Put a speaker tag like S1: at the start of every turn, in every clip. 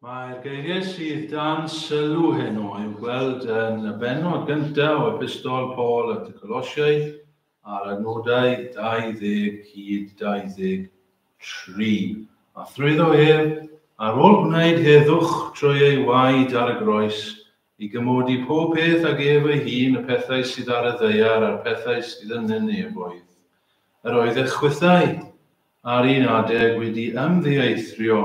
S1: Mae'r geiriau sydd dan sylw heno i'w gweld yn y bennod gyntaf o Epistol Paul at y Colosiaid a'r adnodau 20 hyd 23. A thrwyddo ef, ar ôl gwneud heddwch trwy ei waed ar y groes, i gymodi pob peth ag ef ei hun, y pethau sydd ar y ddaear a'r pethau sydd yn y nefoedd. Yr oedd eich chwithau ar un adeg wedi ymddieithrio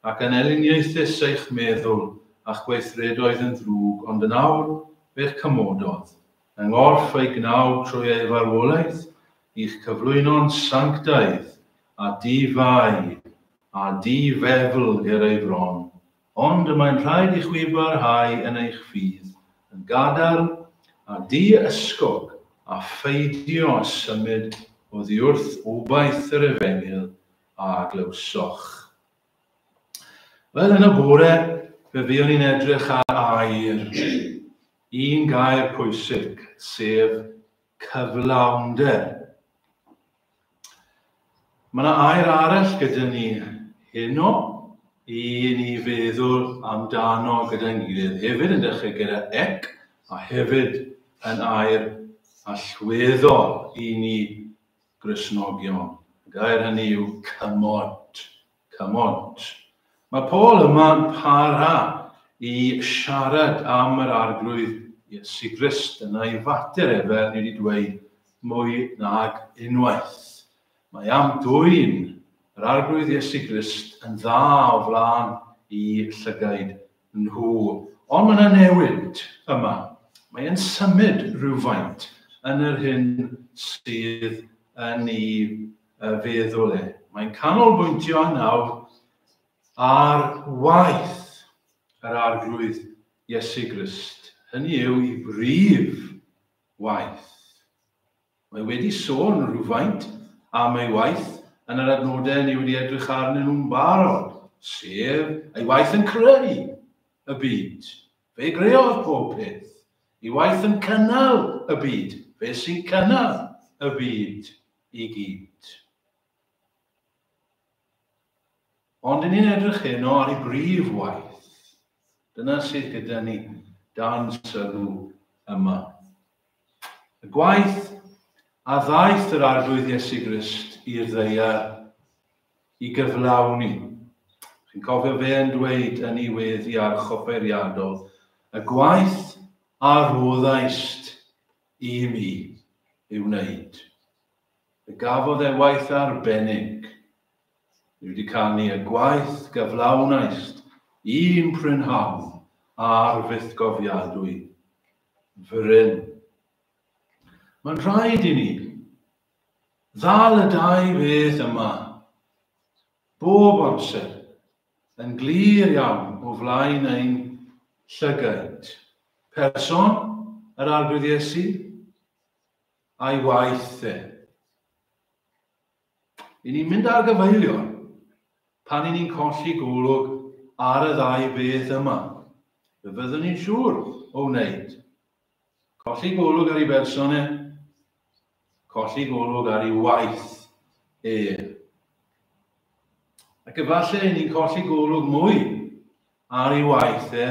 S1: ac yn elyniaethus eich meddwl a'ch gweithredoedd yn ddrwg, ond yn awr fe'ch cymododd, yng nghorff ei gnawd trwy ei farwolaeth, i'ch cyflwyno'n sanctaidd a di-fai a di-fefl ger ei fron. Ond y mae'n rhaid i chwi barhau yn eich ffydd, yn gadarn a di-ysgog, a pheidio â symud oddiwrth obaith yr efengyl a glywsoch. Wel, yn y bore, fe fuon ni'n edrych ar air, un gair pwysig, sef cyflawnder. Mae yna air arall gyda ni heno i ni feddwl amdano gyda'n gilydd. Hefyd yn dechrau gyda ec a hefyd yn air allweddol i ni Gristnogion. Y gair hynny yw cymod. Cymod. Mae Paul yma'n para i siarad am yr Arglwydd Iesu Grist. Dyna ei fater e, fel ni wedi dweud mwy nag unwaith. Mae am dwyn yr Arglwydd Iesu Grist yn dda o flaen i llygaid nhw. Ond mae yna newid yma. Mae e'n symud rhywfaint yn yr hyn sydd yn ei feddwl e. Mae'n canolbwyntio nawr ar waith yr Arglwydd Iesu Grist. Hynny yw i brif waith. Mae wedi sôn rhywfaint am ei waith yn yr adnodau ni wedi edrych arnyn nhw'n barod, sef ei waith yn creu y byd. Fe greodd pob peth. Ei waith yn cynnal y byd. Fe sy'n cynnal y byd i gyd. Ond i ni'n edrych heno ar ei brif waith. Dyna sydd gyda ni dan sylw yma. Y gwaith a ddaeth yr Arglwydd Iesu Grist i'r ddaear i gyflawni. Chi'n cofio fe yn dweud yn ei weddi archoffeiriadol, y gwaith a roddaist i mi ei wneud. Fe gafodd e waith arbennig. Ni wedi canu y gwaith gyflawnaist un prynhawn ar fythgofiadwy fryn. Mae'n rhaid i ni ddal y dau beth yma bob amser yn glir iawn o flaen ein llygaid. Person yr Arglwydd Iesu a'i waith e. I ni'n mynd ar gyfeilion pan i ni'n colli golwg ar y ddau beth yma. Fe fyddwn ni'n siŵr o wneud. Colli golwg ar ei berson e, colli golwg ar ei waith e. Ac efallai i ni'n colli golwg mwy ar ei waith e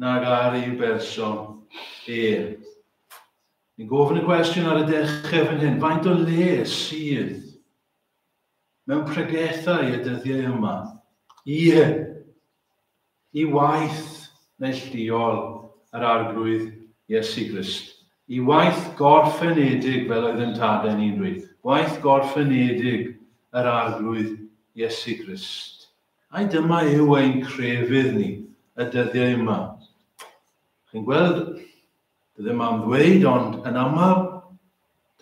S1: nag ar ei berson e. Ni'n gofyn y cwestiwn ar y dechrau fan hyn, faint o le sydd mewn pregethau y dyddiau yma? Ie, i waith neilltuol yr Arglwydd Iesu Grist, i waith gorffenedig fel oedd yn tadau ni'n dweud, gwaith gorffenedig yr Arglwydd Iesu Grist. Ai dyma yw ein crefydd ni y dyddiau yma? Chi'n gweld, Dwi ddim am ddweud, ond yn aml,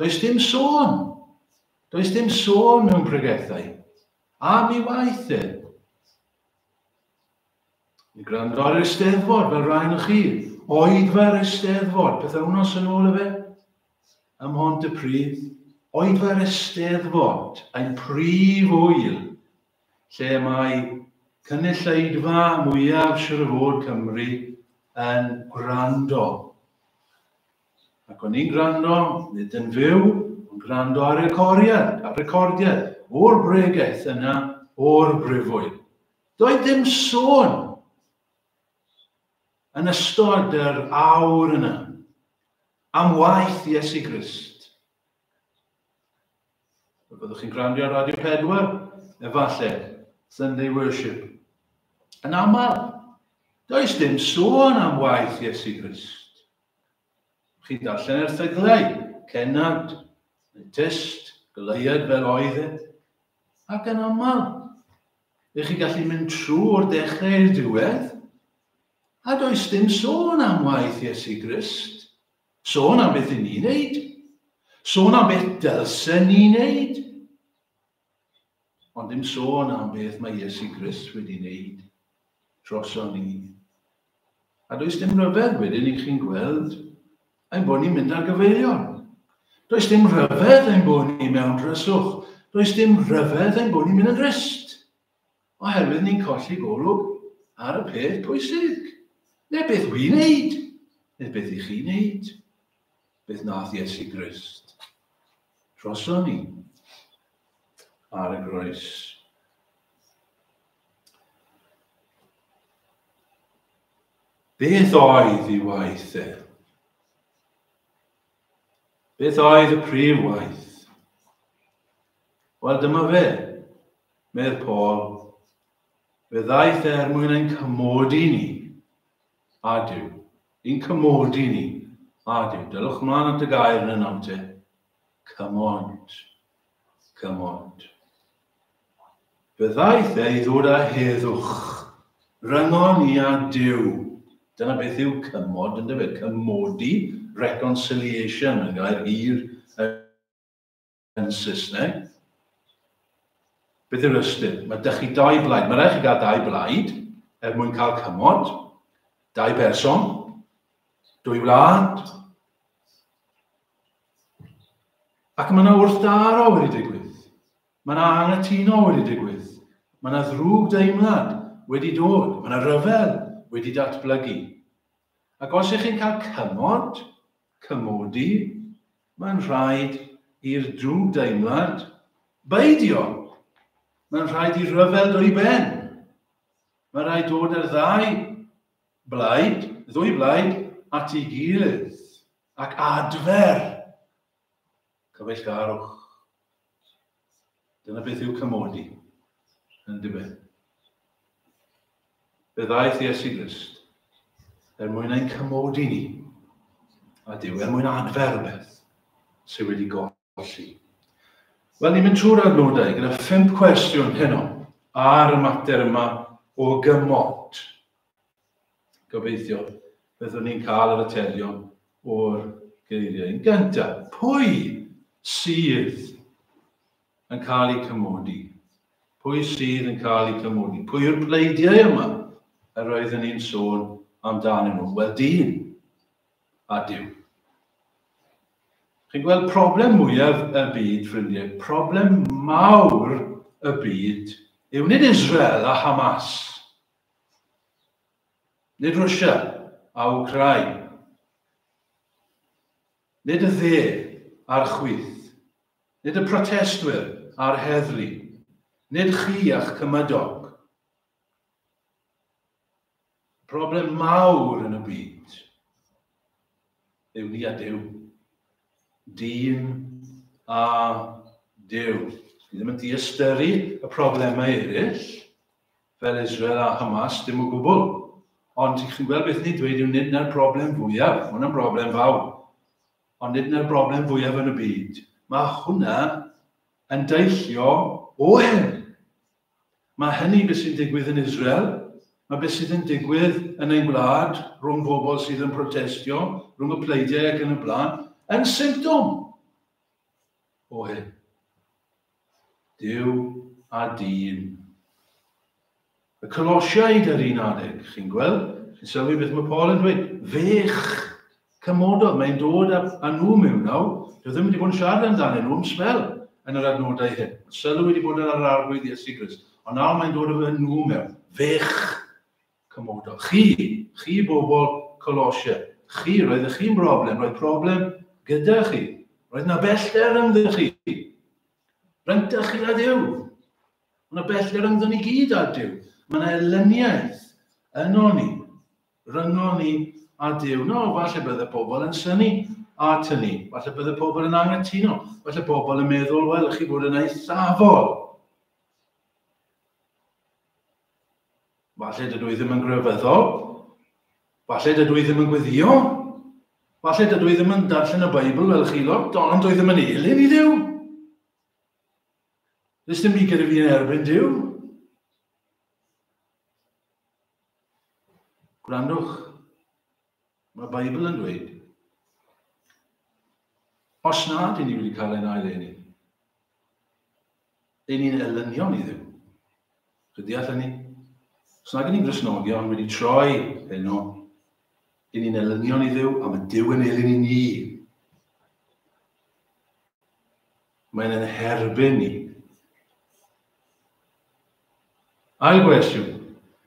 S1: does dim sôn. Does dim sôn mewn pregethau. Am ei waith e. Ni gwrando ar yr Eisteddfod, fel rhain o chi. Oedfa'r Eisteddfod, pythewnos yn ôl efe, ym Mhontypridd. Oedfa'r Eisteddfod, ein prif ŵyl, lle mae cynulleidfa mwyaf siŵr o fod Cymru yn gwrando. Ac o'n i'n gwrando, nid yn fyw, ond gwrando ar recordiad, ar recordiad o'r bregeth yna o'r brifwyl. Doedd dim sôn yn ystod yr awr yna am waith Iesu Grist? Byddwch chi'n gwrando ar Radio 4, efallai, Sunday Worship. Yn aml, does dim sôn am waith Iesu Grist. Chi'n darllen erthyglau, cennad, neu tyst, goleuad fel oedd e. Ac yn aml, ych chi'n gallu mynd trwy'r dechrau i'r diwedd, a does dim sôn am waith Iesu Grist. Sôn am beth i ni'n neud. Sôn am beth dylsen ni'n neud. Ond dim sôn am beth mae Iesu Grist wedi wneud droson ni. A does dim rhyfedd wedyn i chi'n gweld ein bod ni'n mynd ar gyfeilion. Does dim rhyfedd ein bod ni mewn dryswch. Does dim rhyfedd ein bod ni'n mynd yn drist. Oherwydd ni'n colli golwg ar y peth pwysig. Neu beth wy'n neud, neu beth i chi'n neud. Beth nath Iesu Grist droson ni ar y groes. Beth oedd ei waith e? Beth oedd y prif waith? Wel, dyma fe, medd Paul. Fe ddaeth e er mwyn ein cymodi ni a Duw. I'n cymodi ni a Duw. Dylwch mlaen at y gair yn y nawr te. Cymod. Cymod. Fe ddaeth e i ddod â heddwch ryngon ni a Duw. Dyna beth yw cymod, yn dyfe? Cymodi, reconciliation, yn gair hir yn Saesneg. Beth yw'r ystyr? Mae dych chi dau blaid. Mae rhaid chi gael dau blaid er mwyn cael cymod. Dau berson, dwy wlad. Ac mae yna wrthdaro wedi digwydd. Mae yna anghytuno wedi digwydd. Mae yna ddrwg deimlad wedi dod. Mae yna ryfel wedi datblygu. Ac os ych chi'n cael cymod, cymodi, mae'n rhaid i'r drwg deimlad beidio. Mae'n rhaid i ryfel dod i ben. Mae'n rhaid dod â'r ddau blaid, ddwy blaid, at ei gilydd ac adfer Cyfeillgarwch. Dyna beth yw cymodi, yn diben. Fe ddaeth Iesu Grist er mwyn ein cymodi ni, a Duw, er mwyn adfer rhywbeth sydd wedi golli. Wel, ni'n mynd trwy'r adnodau gyda phump cwestiwn heno ar y mater yma o gymod. Gobeithio byddwn ni'n cael yr atebion o'r geiriau. Yn gyntaf, pwy sydd yn cael eu cymodi? Pwy sydd yn cael eu cymodi? Pwy yw'r pleidiau yma yr oeddwn ni'n sôn amdanyn nhw? Wel, dyn a Duw. Chi'n gweld problem mwyaf y byd, ffrindiau, problem mawr y byd yw nid Israel a Hamas. Nid Rwsia a Wcráin. Nid y dde a'r chwith. Nid y protestwyr a'r heddlu. Nid chi a'ch cymydog. Problem mawr yn y byd yw ni a Duw. Dyn a Duw. Ni ddim yn diystyru y problemau eraill, fel Israel a Hamas, dim o gwbl. Ond chi'n gweld beth ni'n dweud yw nid na'r broblem fwyaf, mae hwnna'n broblem fawr, ond nid na'r broblem fwyaf yn y byd. Mae hwnna yn deillio o hyn. Mae hynny beth sy'n digwydd yn Israel, mae beth sydd yn digwydd yn ein gwlad rhwng bobl sydd yn protestio, rhwng y pleidiau ac yn y blaen, yn symptom o hyn. Duw a dyn. Y Colosiaid ar un adeg, chi'n gweld, chi'n sylwi beth mae Paul yn dweud, fe'ch cymododd, mae'n dod â, â nhw mewn nawr, dwi ddim wedi bod yn siarad amdanyn nhw am sbel yn yr adnodau hyn. Mae sylw wedi bod ar yr arglwydd Iesu Grist, ond nawr mae'n dod â nhw mewn. Fe'ch cymododd. Chi, chi bobl Colosia, chi, roeddech chi'n broblem, roedd problem gyda chi. Roedd na bellter ynddo chi. Rhyngdych chi a Duw. Mae yna bellter ynddo ni gyd â Duw. Mae yna elyniaeth yno ni. ryngon ni a Duw. No, falle bydde pobl yn synnu at hynny. Falle bydde pobl yn anghytuno. Falle pobl yn meddwl, wel, chi bod yn eithafol. Falle dydw i ddim yn grefyddol. Falle dydw i ddim yn gweddio. Falle dydw i ddim yn darllen y Beibl fel chi lot, ond dwi ddim yn elyn i Dduw. Does dim byd gyda fi yn erbyn Duw. Gwrandwch, mae'r Beibl yn dweud, os na dyn ni wedi cael ein ail-eni, dyn ni'n elynion i Dduw. Chi'n deall hynny? Os nag ni'n Gristnogion wedi troi heno, dyn ni'n elynion i Dduw, a mae Duw yn elyn i ni. Mae'n yn herbyn ni. Ail gwestiwn.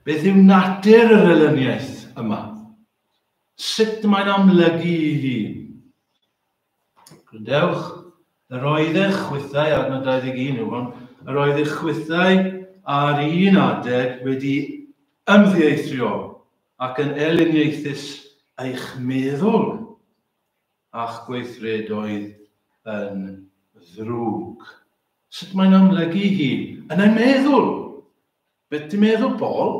S1: Beth yw natur yr elyniaeth yma? Sut mae'n amlygu ei hun? Gwrandewch, yr oeddech chwithau, adnod 21 yw hwn, yr oeddech chwithau ar un adeg wedi ymddieithrio ac yn elyniaethus eich meddwl a'ch gweithredoedd yn ddrwg. Sut mae'n amlygu hi? Yn ein meddwl. Beth ti'n meddwl, Paul?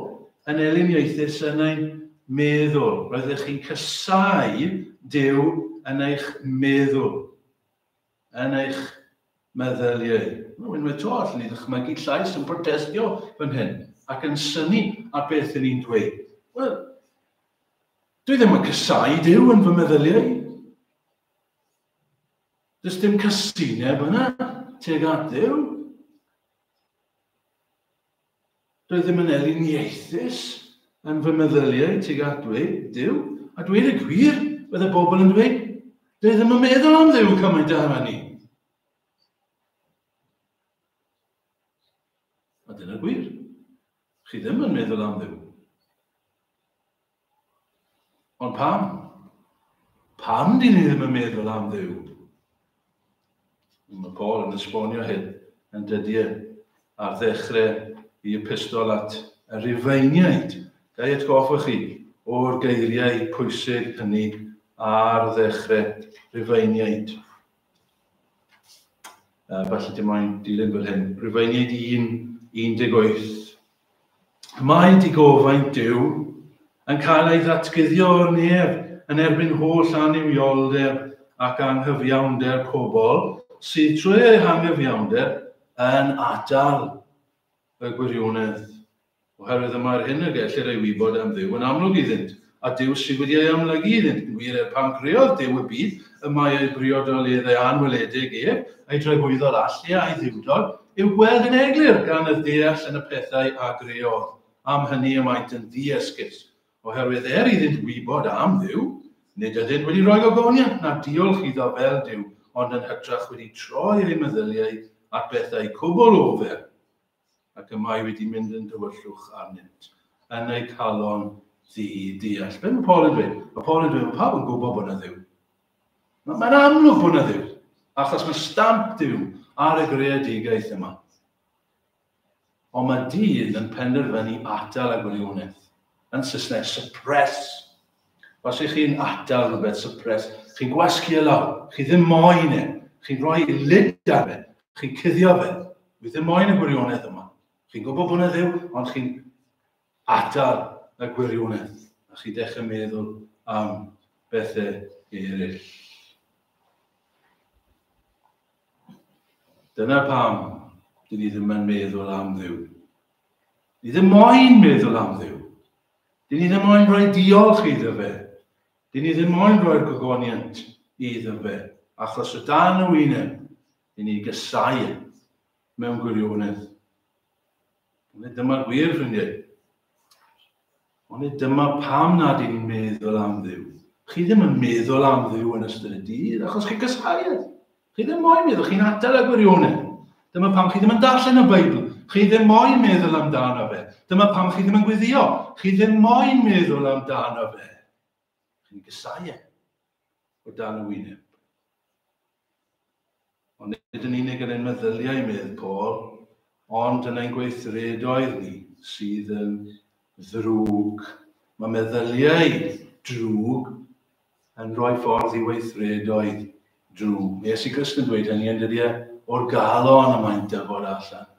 S1: Yn elyniaethus yn ein meddwl. Roeddech chi'n casáu Duw yn eich meddwl. Yn eich meddyliau. No, unwaith to, allwn ni ddychmygu llais yn protestio fan hyn ac yn synnu ar beth yn ni'n dweud. Wel, dwi ddim yn casáu Duw yn fy meddyliau. Does dim casineb yna tuag at Dduw. Dwi ddim yn eliniaethus yn fy meddyliau tuag at dweud Duw. A dweud y gwir, bydde bobl yn dweud, dwi ddim yn meddwl am Dduw cymaint â hynny. A dyna'r gwir. Chi ddim yn meddwl am Dduw. Ond pam? Pam dyn ni ddim yn meddwl am Dduw? Mae Paul yn esbonio hyn yn dydy e ar ddechrau i epistol at y Rufeiniaid. Ga i atgoffa chi o'r geiriau pwysig hynny ar ddechrau Rufeiniaid. Falle dim ond dilyn fel hyn. Rufeiniaid 1, 18. Mae digofaint Duw yn cael ei ddatguddio o'r nef yn erbyn holl annuwioldeb ac anghyfiawnder pobl sydd trwy eu hangyfiawnder yn atal y gwirionedd. Oherwydd y mae'r hyn y gellir ei wybod am Dduw yn amlwg iddynt, a Duw sydd wedi ei amlygu iddynt. Yn wir, er pan creodd Duw y byd, y mae ei briodoleddau anweledig ef, ei dragwyddol allu a'i dduwdod, i'w gweld yn eglur gan y ddeall yn y pethau a greodd. Am hynny y maent yn ddiesgus, oherwydd er iddynt wybod am Dduw, nid ydynt wedi rhoi gogoniant na diolch iddo fel Duw, ond yn hytrach wedi troi eu meddyliau at bethau cwbl ofer, ac y mae wedi mynd yn dywyllwch arnynt, yn eu calon ddi-deall. Beth mae Paul yn dweud? Mae Paul yn dweud, mae pawb yn gwybod bod yna Dduw. Mae'n amlwg bod yna Dduw, achos mae stamp Duw ar y greadigaeth yma. Ond mae dyn yn penderfynu atal y gwirionedd. Yn Saesneg, suppress. Os ych chi'n atal rhywbeth, suppress, chi'n gwasgu e lawr, chi ddim moyn e, chi'n rhoi lid ar fe, chi'n cuddio fe. Wi ddim moyn y gwirionedd yma. Chi'n gwybod bod yna Dduw, ond chi'n atal y gwirionedd. A chi'n dechrau meddwl am bethau eraill. Dyna pam dyn ni ddim yn meddwl am Dduw. Ni ddim moyn meddwl am Dduw. Dyn ni ddim moyn rhoi diolch iddo fe. Dyn ni ddim moyn rhoi'r gogoniant iddo fe. Achos o dan y wyneb, dyn ni gysau e mewn gwirionedd. Ond nid dyma'r gwir, ffrindiau. Ond nid dyma pam nad ydyn ni'n meddwl am Dduw. Chi ddim yn meddwl am Dduw yn ystod y dydd, achos chi'n gysau e. Chi ddim moyn meddwl, chi'n adael y gwirionedd. Dyma pam chi ddim yn darllen y Beibl. Chi ddim moyn meddwl amdano fe. Dyma pam chi ddim yn gweddio. Chi ddim moyn meddwl amdano fe. Chi'n gysau e o dan y wyneb. Ond nid yn unig yn ein meddyliau, medd Paul, ond yn ein gweithredoedd ni sydd yn ddrwg. Mae meddyliau drwg yn rhoi ffordd i weithredoedd drwg. Mae Iesu Grist yn dweud hynny yn dydy e, o'r galon y mae'n dyfod allan.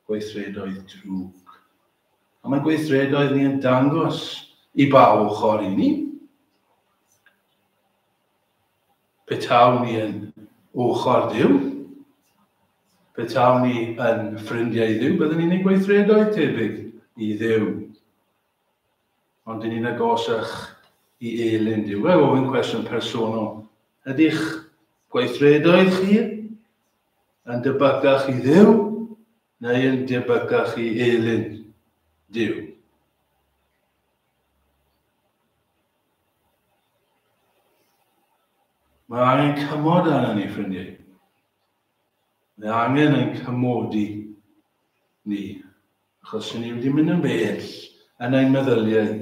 S1: Gweithredoedd drwg. A mae gweithredoedd ni yn dangos i ba ochr i ni. Petawn ni yn ochr Duw, petawn ni yn ffrindiau i Dduw, byddwn ni'n ei gweithredoedd tebyg i Dduw. Ond dyn ni'n agosach i elyn Duw. Fe ofyn cwestiwn personol. Ydych gweithredoedd chi yn debycach i Dduw neu yn debycach i elyn Duw? Mae angen cymod arna ni, ffrindiau. Mae angen ein cymodi ni, achos ni wedi mynd yn bell yn ein meddyliau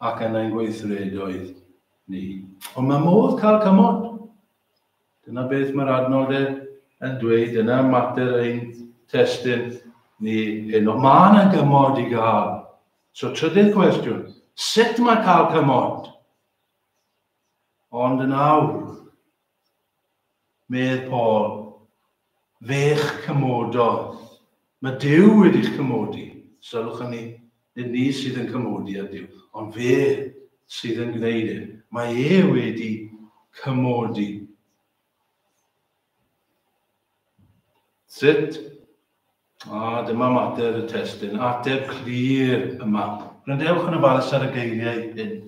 S1: ac yn ein gweithredoedd ni. Ond mae modd cael cymod. Dyna beth mae'r adnodau yn dweud, dyna mater ein testun ni heno. Mae yna gymod i gael. So trydydd cwestiwn, sut mae cael cymod? Ond yn awr, medd Paul, fe'ch cymododd. Mae Duw wedi'ch cymodi. Sylwch hynny, nid ni sydd yn cymodi â Duw, ond fe sydd yn gwneud e. Mae e wedi cymodi. Sut? A dyma mater y testun, ateb clir yma. Gwrandewch yn ofalus ar y geiriau hyn.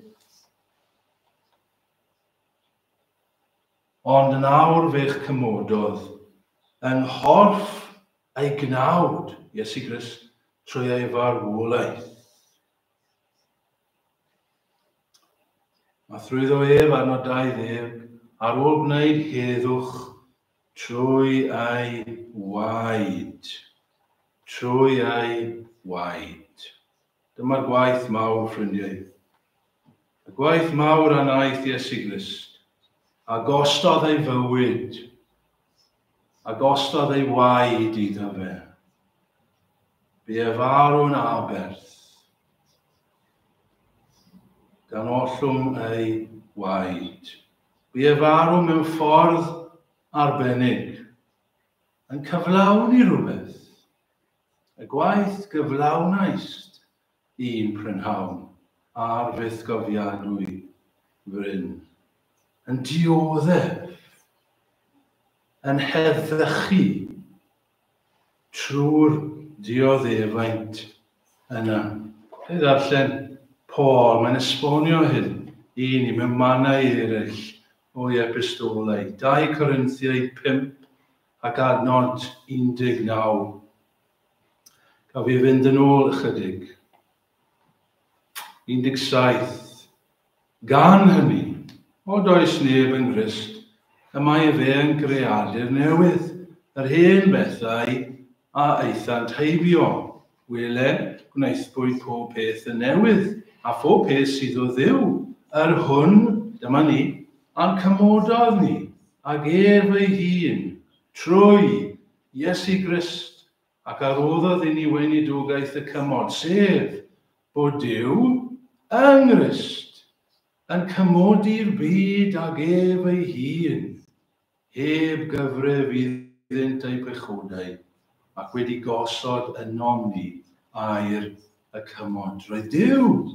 S1: Ond yn awr fe'ch cymododd yng nghorff ei gnawd, Iesu Grist, trwy ei farwolaeth. A thrwyddo ef arno 20, ar ôl gwneud heddwch trwy ei waed. Trwy ei waed. Dyma'r gwaith mawr, ffrindiau. Y gwaith mawr a wnaeth Iesu Grist, a gostodd ei fywyd, a gostodd ei waed iddo fe. Bu e farw'n aberth, gan ollwng ei waed. Bu e farw mewn ffordd arbennig, yn cyflawni rhywbeth. Y gwaith gyflawnaist un prynhawn ar fythgofiadwy fryn, yn dioddef, yn heddychu trwy'r dioddefaint yna. Fe ddarllen Paul, mae'n esbonio hyn i ni mewn mannau eraill o'i epistolau. 2 Corinthiaid 5 ac adnod 19. Gaf fi fynd yn ôl ychydig. 17. Gan hynny, od oes neb yng Nghrist, y mae efe yn greadur newydd, yr hen bethau a aethant heibio. Wele, gwnaethpwyd pob peth yn newydd, a phob peth sydd o Dduw, yr hwn, dyma ni, a'n cymododd ni, ag ef ei hun, trwy Iesu Grist, ac a roddodd i ni weinidogaeth y cymod, sef bod Duw yng Nghrist yn cymodi'r byd ag ef ei hun, heb gyfrif iddynt eu pechodau, ac wedi gosod ynom ni air y cymod. Roedd Duw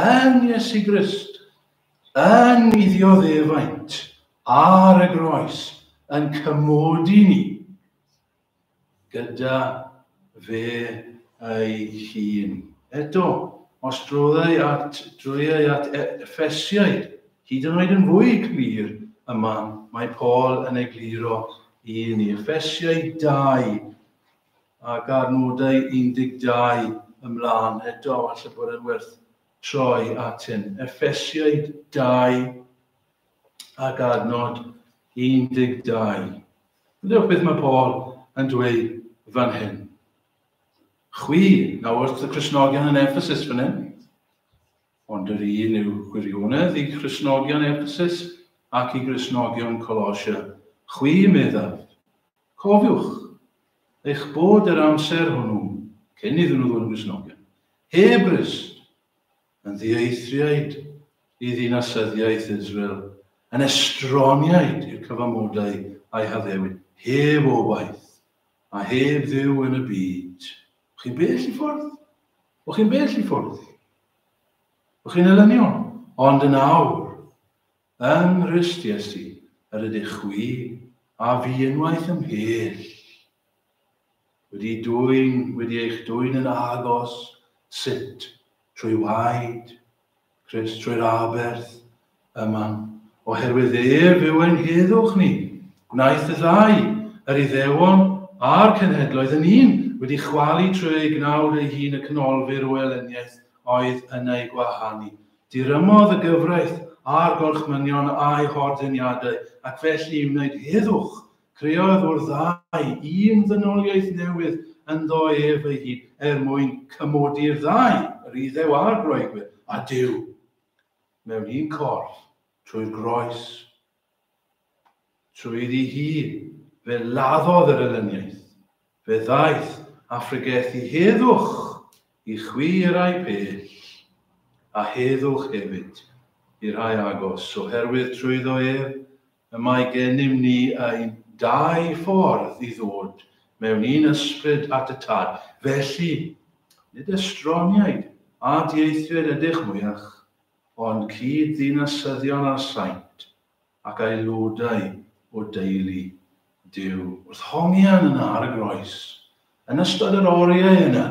S1: yn Iesu Grist yn ei ddioddefaint ar y groes yn cymodi ni gyda fe ei hun. Eto, os droddai at, drwyai at Effesiaid, hyd yn oed yn fwy clir yma, mae Paul yn egluro i ni. Effesiaid 2 ac adnodau 12 ymlaen eto, falle bod yn werth troi at hyn. Effesiaid 2 ac adnod 12. Dewch beth mae Paul yn dweud fan hyn. Chwi, nawr wrth y Cristnogion yn Ephesus fan hyn, ond yr un yw gwirionedd i Cristnogion Ephesus ac i Gristnogion Colosia. Chwi, meddaf, cofiwch eich bod yr amser hwnnw, cyn iddyn nhw ddod yn Gristnogion, heb Grist. Yn ddieithriaid i ddinasyddiaeth Israel, yn estroniaid i'r cyfamodau a'i haddewid, heb obaith, a heb Dduw yn y byd. O'ch chi'n bell i ffwrdd? O'ch chi'n bell i ffwrdd? O'ch chi'n elynion? Ond yn awr, yng Nghrist Iesu, yr ydych chwi a fi unwaith ymhell, wedi dwyn, wedi eich dwyn yn agos, sut? Trwy waed Crist, trwy'r aberth yma. Oherwydd ef yw ein heddwch ni. Gwnaeth y ddau, yr Iddewon a'r cenhedloedd yn un, wedi chwalu trwy ei gnawd ei hun y canolfur o elyniaeth oedd yn eu gwahanu. Dirymodd y gyfraith a'r gorchmynion a'u hordeniadau, ac felly i wneud heddwch, creodd o'r ddau un ddynoliaeth newydd ynddo ef ei hun, er mwyn cymodi'r ddau, yr Iddew a'r Groegwyr, a Duw, mewn un corff, trwy'r groes. Trwy iddi hi, fe laddodd yr elyniaeth, fe ddaeth a phregethu heddwch i chwi i'r rhai pell, a heddwch hefyd i'r rhai agos, oherwydd trwyddo ef y mae gennym ni ein dau ffordd i ddod mewn un ysbryd at y Tad. Felly, nid estroniaid a dieithriaid ydych mwyach, ond cyd-ddinasyddion â'r saint, ac aelodau o deulu Duw. Wrth hongian yna ar y groes, yn ystod yr oriau yna,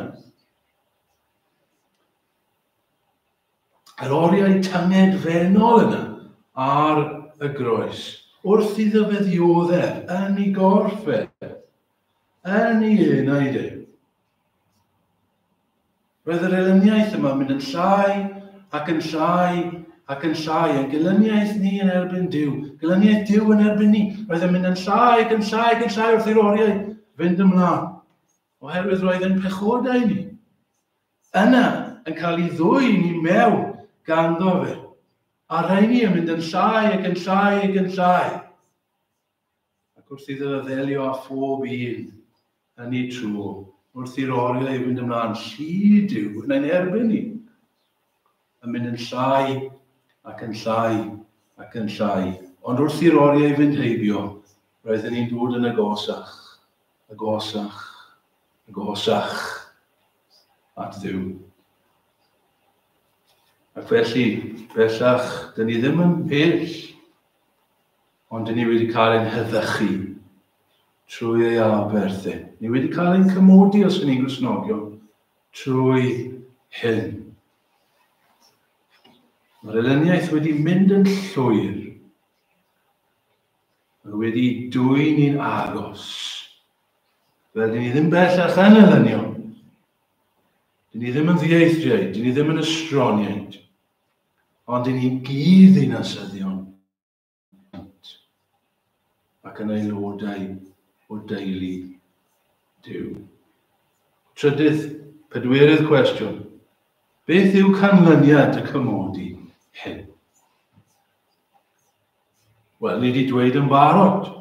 S1: yr oriau tyngedfennol yna ar y groes, wrth iddo fe ddioddef yn ei gorff e, yn ei enaid e. Roedd yr elyniaeth yma'n mynd yn llai ac yn llai ac yn llai, ein gelyniaeth ni yn erbyn Duw, gelyniaeth Duw yn erbyn ni. Roedd yn mynd yn llai ac yn llai ac yn llai wrth i'r oriau fynd ymlaen, oherwydd roedd yn pechodau ni yna yn cael ei ddwyn i mewn ganddo fe. A rheini yn mynd yn llai ac yn llai ac yn llai. Ac wrth iddo ddelio â phob un yn ei tro, wrth i'r oriau fynd ymlaen, llid yw yn ein erbyn ni, yn mynd yn llai ac yn llai ac yn llai. Ond wrth i'r oriau fynd heibio, roedden ni'n dod yn agosach, agosach, agosach at Dduw. Ac felly, bellach, dyn ni ddim yn pell Ond dyn ni wedi cael ein heddychu trwy ei aberth e. Ni wedi cael ein cymodi os ydyn ni'n Gristnogion trwy hyn. Mae'r elyniaeth wedi mynd yn llwyr. Mae wedi dwyn ni'n agos. Fel dyn ni ddim bellach yn elynion. Dyn ni ddim yn ddieithriaid, dyn ni ddim yn estroniaid. Ond dyn ni'n gyd ddinasyddion ac yn aelodau o deulu Duw. Trydydd, pedwerydd cwestiwn. Beth yw canlyniad y cymodi hyn? Wel, ni wedi dweud yn barod.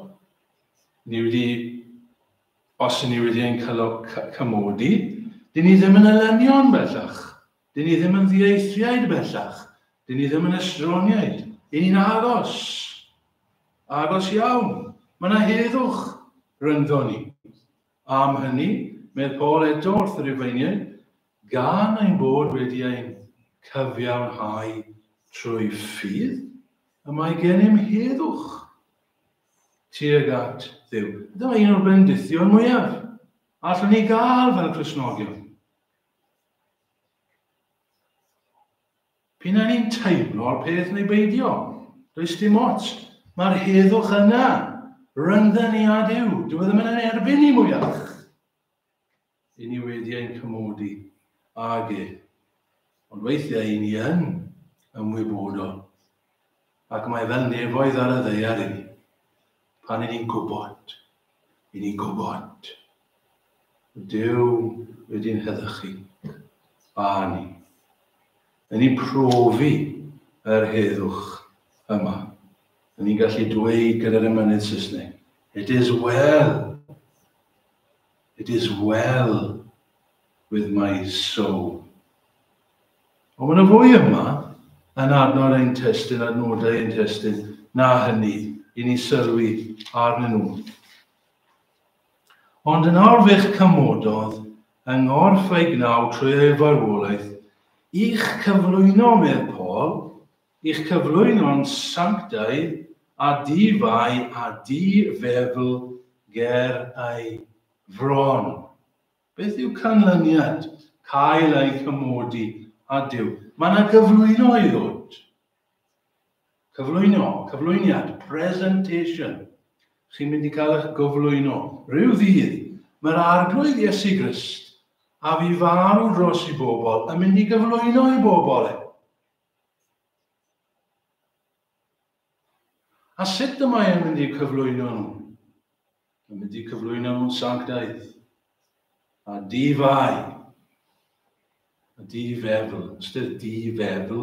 S1: Ni wedi, os ni wedi ein cymodi, dyn ni ddim yn elynion bellach. Dyn ni ddim yn ddieithriaid bellach. Dyn ni ddim yn estroniaid. Dyn ni'n agos. Agos iawn. Mae yna heddwch rhyngddo ni. Am hynny, medd Paul eto wrth y Rufeiniaid, gan ein bod wedi ein cyfiawnhau trwy ffydd, y mae gennym heddwch tuag at Dduw. Dyma un o'r bendithion mwyaf allwn ni gael fel Cristnogion. P'un ai ni'n teimlo'r peth neu beidio, does dim ots. Mae'r heddwch yna, rhyngdda ni a Duw. Dyw e ddim yn ein erbyn ni mwyach. I ni wedi ein cymodi ag e. Ond weithiau i ni yn ymwybodol. Ac mae fel nefoedd ar y ddaear i ni. Pan i ni'n gwybod, i ni'n gwybod Duw wedi'n heddychu a ni. Yn ni'n profi yr heddwch yma. Yn ni'n gallu dweud gyda'r emynydd Saesneg, It is well. It is well with my soul. Ond mae yna fwy yma yn adnod ein testun, adnodau ein testun, na hynny i ni sylwi arnyn nhw. Ond yn awr fe'ch cymododd yng nghorff ei gnaw trwy ei farwolaeth, i'ch cyflwyno, medd Paul, i'ch cyflwyno'n sanctaidd a di-fai a di-fefl ger ei fron. Beth yw canlyniad cael eu cymodi â Duw? Mae yna gyflwyno i ddod. Cyflwyno, cyflwyniad, presentation. Chi'n mynd i cael eich gyflwyno. Rhyw ddydd, mae'r Arglwydd Iesu Grist a fi farw dros i bobl yn mynd i gyflwyno i bobl e. A sut y mae e'n mynd i'w cyflwyno nhw? Mae'n mynd i cyflwyno nhw'n sanctaidd a di-fai a di-fefl. Ystyr di-fefl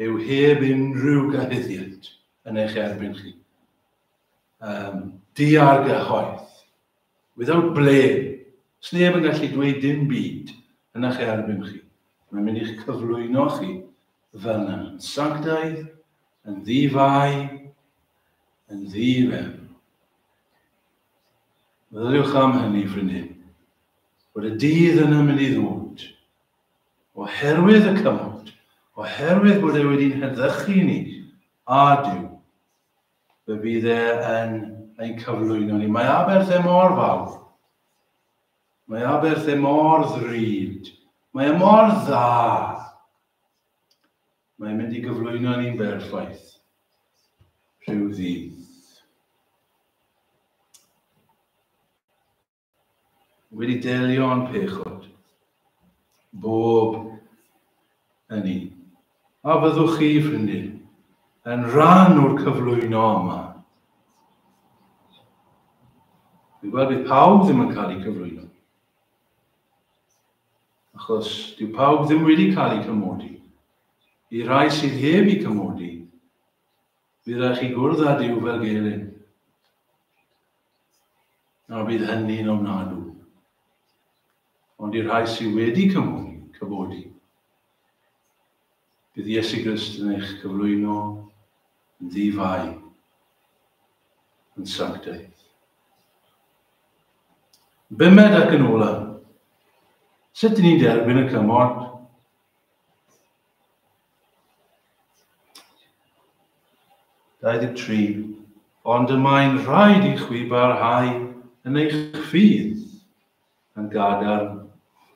S1: yw heb unrhyw gyhuddiad yn eich erbyn chi. Di-argyhoedd. Without blame. Sneb yn gallu dweud dim byd yn eich erbyn chi. Mae'n mynd i'ch cyflwyno chi fel yna. Yn sanctaidd, yn ddi-fai, yn ddi-fefl. Meddyliwch am hynny, ffrindiau, bod y dydd yna mynd i ddod, oherwydd y cymod, oherwydd bod e wedi'n heddychu ni a Duw, fe fydd e yn ein cyflwyno ni. Mae aberth e mor fawr. Mae aberth e mor ddrud. Mae e mor dda. Mae'n mynd i gyflwyno ni'n berffaith rhyw ddydd. Wedi delio â'n pechod, bob yn un. A fyddwch chi, ffrindiau, yn rhan o'r cyflwyno yma? Fi'n gweld bydd pawb ddim yn cael eu cyflwyno. Achos dyw pawb ddim wedi cael eu cymodi. I rai sydd heb eu cymodi, bydd rhaid chi gwrdd â Duw fel gelyn. A bydd hynny'n ofnadw. Ond i'r rhai sydd wedi cymodi, cyfodi, bydd Iesu Grist yn eich cyflwyno yn ddi-fai, yn sanctaidd. Bumed ac yn ola, sut dyn ni'n derbyn y cymorth? 23, ond y mae'n rhaid i chwi barhau yn eich ffydd yn gadarn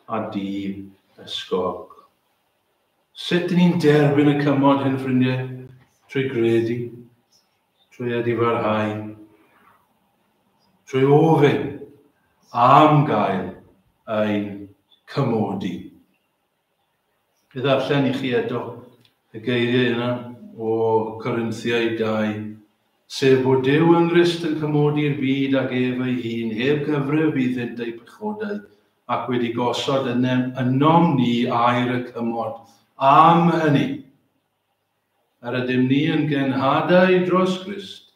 S1: a di-ysgog. Sut dyn ni'n derbyn y cymod hyn, ffrindiau? Trwy gredu, trwy edifarhau, trwy ofyn am gael ein cymodi. I ddarllen i chi eto y geiriau yna o Corinthiaid 2, sef bod Duw yng Nghrist yn cymodi'r byd ag ef ei hun, heb gyfrif iddynt eu pechodau, ac wedi gosod ynom ni air y cymod am hynny. Yr ydym ni yn genhadau dros Grist,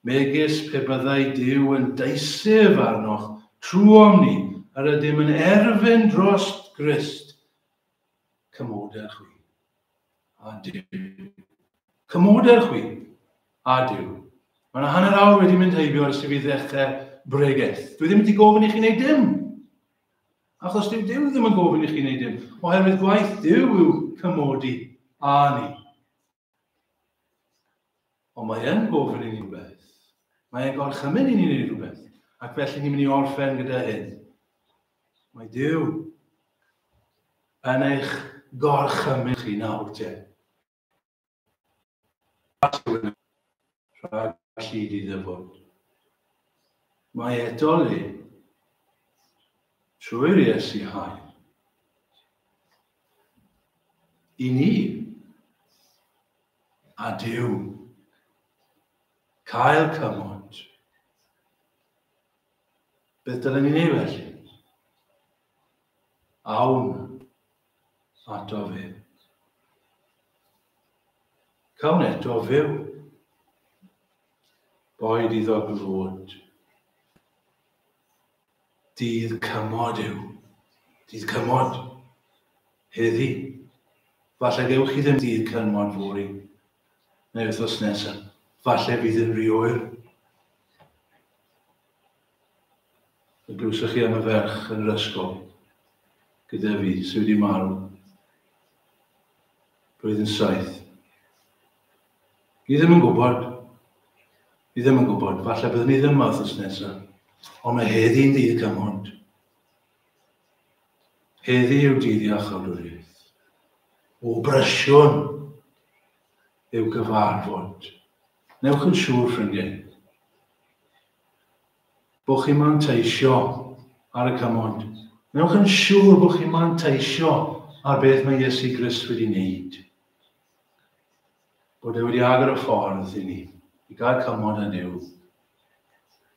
S1: megis pe byddai Duw yn deisyf arnoch trwom ni, yr ydym yn erfyn dros Grist, cymoder chwi a Duw. Cymoder chwi a Duw. Mae yna hanner awr wedi mynd heibio ers i fi ddechrau bregeth. Dwi ddim wedi gofyn i chi wneud dim. Achos dyw Duw ddim yn gofyn i chi wneud dim. Oherwydd gwaith Duw yw cymodi â ni. Ond mae e'n gofyn i ni rhywbeth. Mae e'n gorchymyn i ni wneud rhywbeth. Ac felly ni'n mynd i orffen gyda hyn. Mae Duw yn eich gorchymyn chi nawr te. Rhag llid i ddyfod. Mae eto le trwy'r Iesu hael. I ni a Duw cael cymod. Beth dylen ni wneud felly? Awn ato fe. Cawn eto fyw. Boed iddo glod. Dydd cymod yw. Dydd cymod. Heddi. Falle gewch chi ddim dydd cynmod fory, neu wythnos nesaf. Falle fydd yn rhy oer. Y glywsoch chi am y ferch yn yr ysgol gyda fi sydd wedi marw blwyddyn 7. Ni ddim yn gwybod. Ni ddim yn gwybod. Falle byddwn ni ddim yma wythnos nesaf. Ond mae heddi'n ddydd cymod. Heddi yw dydd iachawdwriaeth. O brysiwn yw gyfarfod. Newch yn siŵr, ffrindiau, bod chi'n manteisio ar y cymod. Newch yn siŵr bod chi'n manteisio ar beth mae Iesu Grist wedi wneud. Bod e wedi agor y ffordd i ni, i gael cymod â Duw.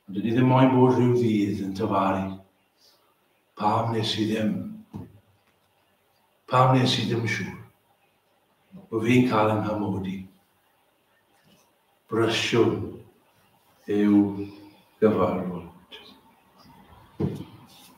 S1: Ond dyn ni ddim moyn bod rhyw ddydd yn tyfaru. Pam nes i ddim? Pam nes i ddim siŵr? Bod fi'n cael yng nghymodi. Brysiwn yw gyfarfod.